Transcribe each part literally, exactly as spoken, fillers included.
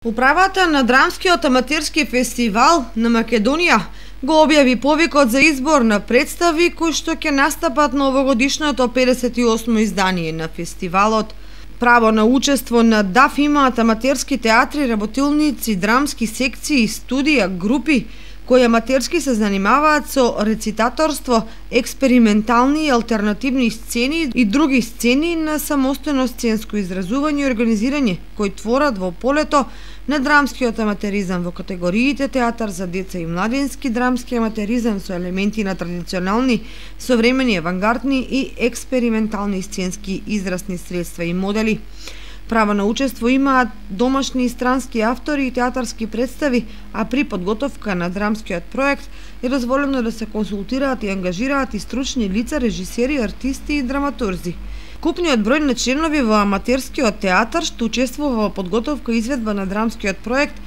Управата на Драмскиот аматерски фестивал на Македонија го објави повикот за избор на представи кои што ќе настапат на овогодишното педесет и осмо издание на фестивалот. Право на учество на ДАФ имаат аматерски театри, работилници, драмски секции, студија, групи кои аматерски се занимаваат со рецитаторство, експериментални и алтернативни сцени и други сцени на самостојно сценско изразување и организирање кои творат во полето на драмскиот аматеризам во категориите театар за деца и младински, драмски аматеризам со елементи на традиционални, современи, авангардни и експериментални сценски изразни средства и модели. Право на учество имаат домашни и странски автори и театарски представи, а при подготовка на драмскиот проект е дозволено да се консултираат и ангажираат и стручни лица, режисери, артисти и драматурзи. Купниот број на членови во аматерскиот театар што учествува во подготовка и изведба на драмскиот проект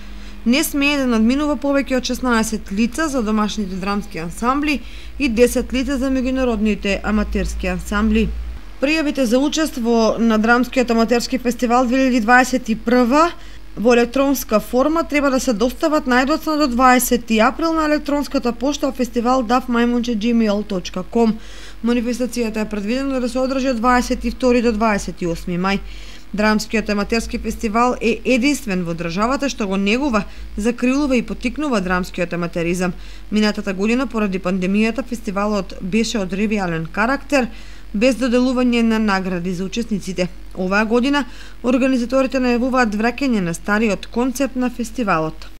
не смее да надминува повеќе од шеснаесет лица за домашните драмски ансамбли и десет лица за меѓународните аматерски ансамбли. Пријавите за учество на Драмскиот аматерски фестивал две илјади дваесет и прва во електронска форма треба да се достават најдоцна до дваесети април на електронската пошта фестивал даф мајмунче џимејл точка ком. Манифестацијата е предвидена да се одржи од дваесет и втори до дваесет и осми мај. Драмскиот аматерски фестивал е единствен во државата што го негува, закрилува и поттикнува драмскиот аматеризам. Минатата година поради пандемијата фестивалот беше од ревијален карактер, без доделување на награди за учесниците. Оваа година организаторите најавуваат враќање на стариот концепт на фестивалот.